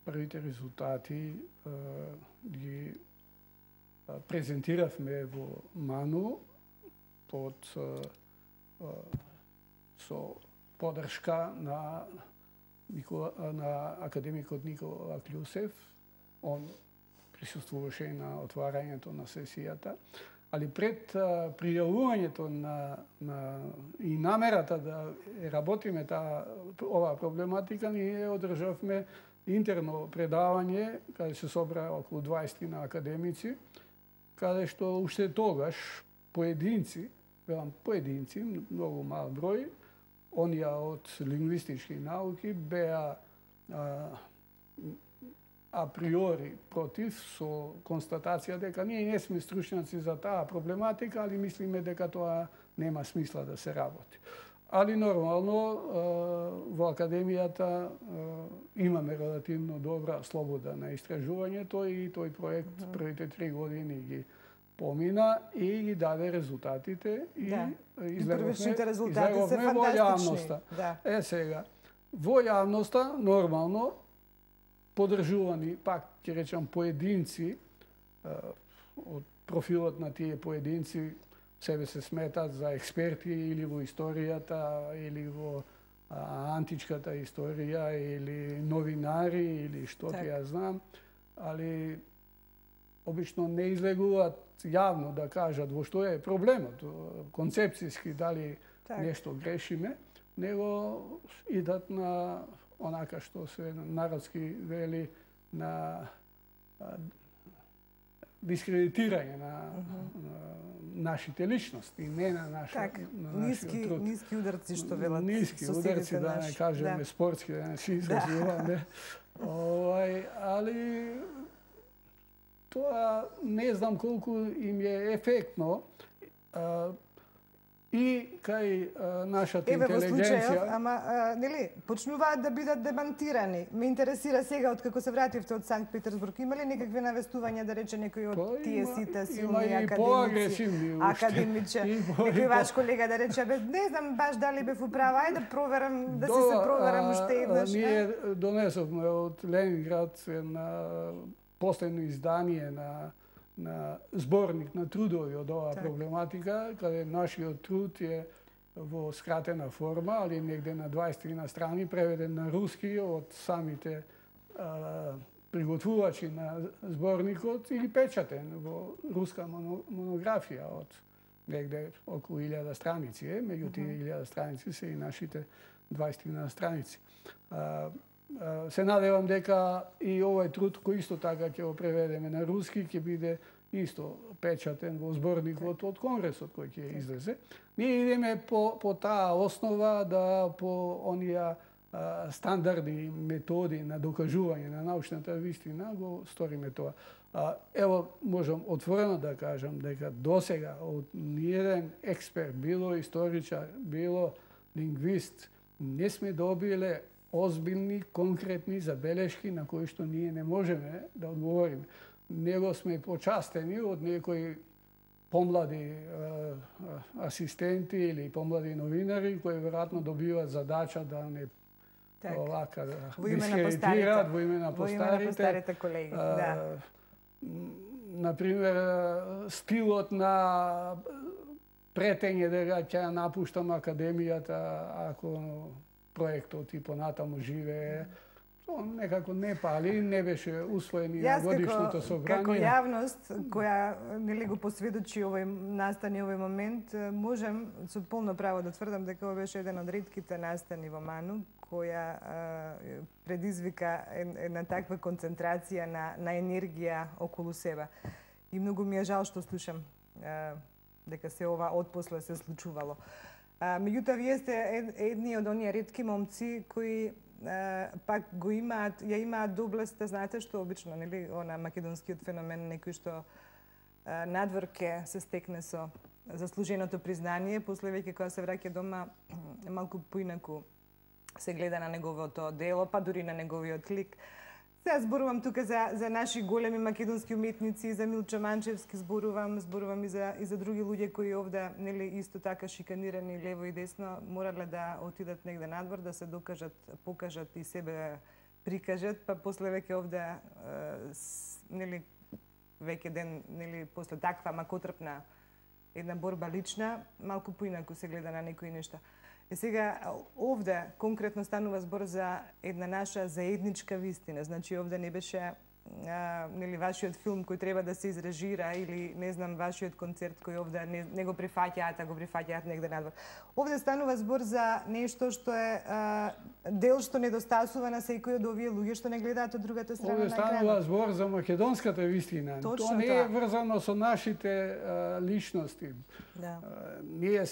првите резултати ги презентиравме во МАНУ со поддршка на академикот Никола Клюсев. Он присуствуваше на отварањето на сесијата. Али пред пријавувањето и намерата да работиме оваа проблематика, ние одржавме интерно предавање, каде се собра околу 20 на академици, каде што уште тогаш поединци, многу мал број, онија од лингвистички науки беа априори против, со констатација дека ние не сме стручњаци за таа проблематика, али мислиме дека тоа нема смисла да се работи. Али нормално во академијата имаме релативно добра слобода на истражувањето и тој проект првите 3 години ги помина и ги даде резултатите и излеговме во јавноста. Сега, во јавноста нормално поддржувани, пак ќе речам, поединци, од профилот на тие поединци себе се сметат за експерти или во историјата, или во античката историја, или новинари, или што ти ја знам, али обично не излегуваат јавно да кажат во што е проблемот, концепцијски дали нешто грешиме, него идат на онака што се народски вели на дискредитирање на нашите личности, не на нашиот труд. Ниски ударци, што велат. Ниски ударци, да не кажеме спортски, да не се изразуваме. Али тоа не знам колку им е ефектно и кај нашата интелигенција. Ама, нели, почнуваат да бидат демантирани. Ме интересира сега, откако се вративте од Санкт Петербург, има ли некакви навестувања, да рече некој од тие сите силни академичи, некој ваш колега да рече, не знам баш дали бев управа, ајде да проверам, да се проверам уште еднаш. Ние донесовме од Ленинград на последно издание на зборник на трудови од оваа проблематика, каде нашиот труд е во скратена форма, али негде на 23 страни, преведен на руски од самите приготвувачи на зборникот или печатен во руска монографија од негде околу 1000 страници. Меѓу тие 1000 страници се и нашите 23 страници. Се надевам дека и овој труд, кој исто така ќе го преведеме на руски, ќе биде исто печатен во зборникот од Конгресот кој ќе излезе. Ние идеме по таа основа, да по онија стандарди методи на докажување на научната вистина го сториме тоа. Ево, можам отворено да кажам дека досега од ниеден експерт, било историчар, било лингвист, не сме добиле озбилни, конкретни забелешки на кои што ние не можеме да одговориме. Него сме почастени од некои помлади асистенти или помлади новинари кои веројатно добиваат задача да не овака дискредитираат во име на постарите колеги. Например, стилот на претење дека ќе напуштам академијата ако проектот и понатаму живее, некако не пали, не беше усвоен и на годишното собрание. Како јавност која нели го посведочи овој настани овој момент, можем со полно право да тврдам дека ова беше еден од ретките настани во МАНУ која предизвика една таква концентрација на енергија околу себе. И многу ми е жал што слушам дека се ова отпосле се случувало. Меѓутоа, вие сте едни од оние ретки момци кои пак го имаат, ја имаат доблеста, знаете што обично, нели, она македонскиот феномен, некој што надвор ке се стекне со заслуженото признание, после веќе кога се враќа дома, малку поинаку се гледа на неговото дело, па дури на неговиот лик. Сега зборувам тука за наши големи македонски уметници, за Милчо Манчевски зборувам и за други луѓе кои овде, нели, исто така шиканирани лево и десно, морале да отидат негде надвор, да се покажат и себе прикажат, па после веќе овде нели веќе ден нели после таква макотрпна една борба лична, малку поинаку се гледа на некои нешта. И сега овде конкретно станува збор за една наша заедничка вистина. Значи овде не беше нели вашиот филм кој треба да се изрежира или не знам вашиот концерт кој овде не го прифаќаат, а го прифаќаат негде надвор. Овде станува збор за нешто што е дел што недостасува на секој од овие луѓе што не гледаат од другата страна на екранот. екранот. Овде станува збор за македонската вистина. Точно тоа не е врзано со нашите личности. Да. Ние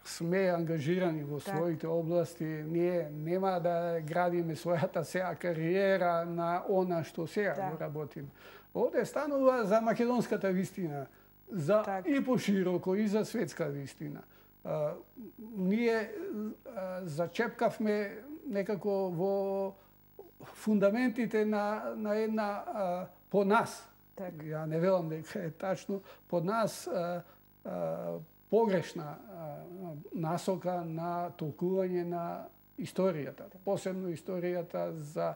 сме ангажирани во своите области, ние нема да градиме својата сега кариера на она што сега го работиме. Овде станува за македонската вистина, за и пошироко и за светска вистина. Ние зачепкавме некако во фундаментите на една по нас. Ја не велам дека е тачно, по нас погрешна насока на толкување на историјата, посебно историјата за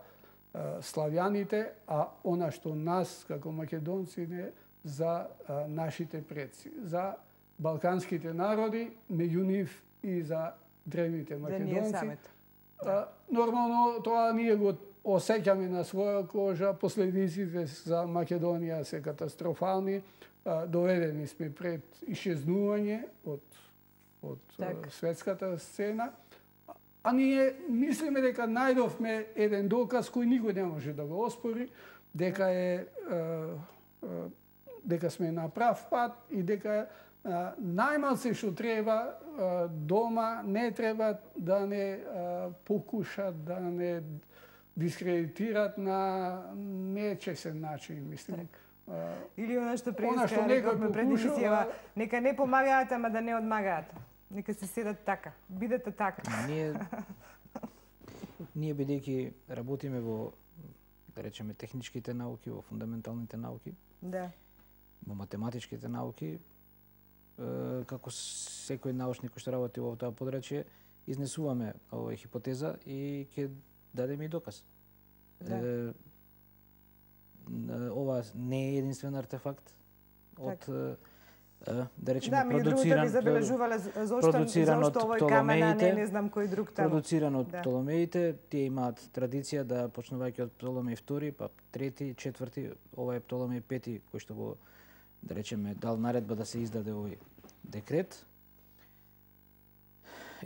славјаните, а она што нас како македонци не за нашите предци, за балканските народи, меѓу нив и за древните македонци. Нормално тоа ние го осеќаме на своја кожа, последиците за Македонија се катастрофални. Доведени сме пред ишезнување од светската сцена, а ние мислиме дека најдовме еден доказ кој никој не може да го оспори, дека сме на прав пат и дека најмалце што треба дома не треба да не покушат да не дискредитират на нечесен начин, мислим. Или она што преиска рековме пред емисијава, нека не помагаат, ама да не одмагаат. Нека се седат така, бидете така. Ние бидејќи работиме во, да речеме, техничките науки, во фундаменталните науки, во математичките науки, како секој научник кој што работи во тоа подрачје, изнесуваме оваа хипотеза и ќе дадеме и доказ. Ова не е единствен артефакт од да речеме продуциран од Птоломеите, не знам кој друг таму. Продуциран од Птоломеите, тие имаат традиција да почнувајќи од Птоломеј II, па трети, четврти, ова е Птоломеј V кој што го да речеме дал наредба да се издаде овој декрет.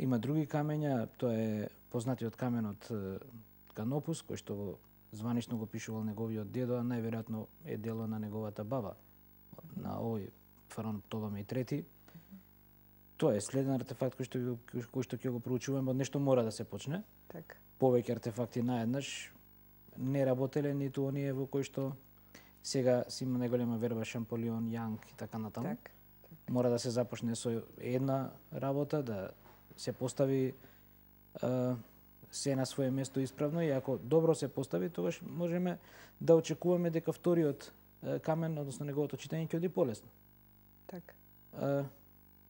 Има други камења, тоа е познатиот каменот Канопус кој што званично го пишувал неговиот дедо, а најверојатно е дело на неговата баба, на овој фараон Птоломеј III. Тоа е следен артефакт кој што ќе го проучуваме, од нешто мора да се почне. Повеќе артефакти наеднаш не работеле, ниту оние во кои што сега си има најголема верба Шамполион, Јанг и така натаму. Мора да се започне со една работа, да се постави се на свое место исправно и ако добро се постави, тогаш можеме да очекуваме дека вториот камен, односно неговото читање ќе оди полесно.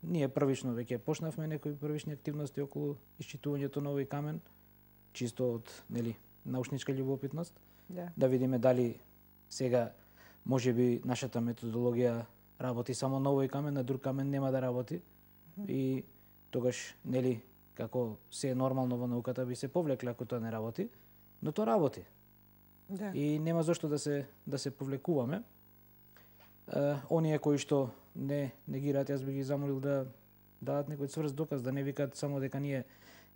Ние првично веќе почнавме некои првични активности околу исчитувањето на овој камен, чисто од научничка љубопитност, да видиме дали сега можеби нашата методологија работи само на овој камен, на друг камен нема да работи и тогаш како се е нормално во науката би се повлекле ако тоа не работи, но тоа работи. И нема зошто да се повлекуваме. Оние кои што не негираат, јас би ги замолил да дадат некој цврст доказ, да не викаат само дека ние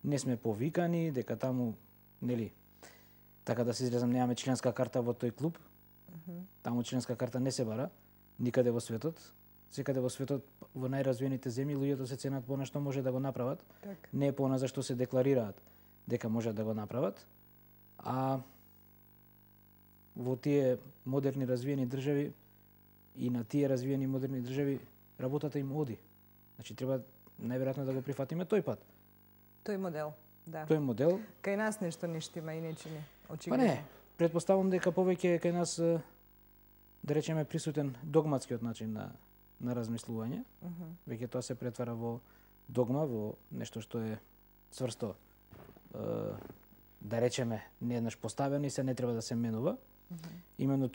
не сме повикани, дека таму, така да се изразам, немаме членска карта во тој клуб. Таму членска карта не се бара никаде во светот. Секаде во светот, во најразвиените земји, луѓето се ценат по она што може да го направат, не е по она за што се декларираат дека можат да го направат. А во тие модерни развиени држави и на тие развиени модерни држави работата им оди. Значи треба најверојатно да го прифатиме тој пат. Тој модел, да. Тој модел. Кај нас нешто не штима и не чини, Па очигледно. не, претпоставам дека повеќе кај нас, да речеме, присутен догматскиот начин на размислување. Веќе тоа се претвара во догма, во нешто што е цврсто да речеме, нееднаш поставени се, не треба да се менува. Именно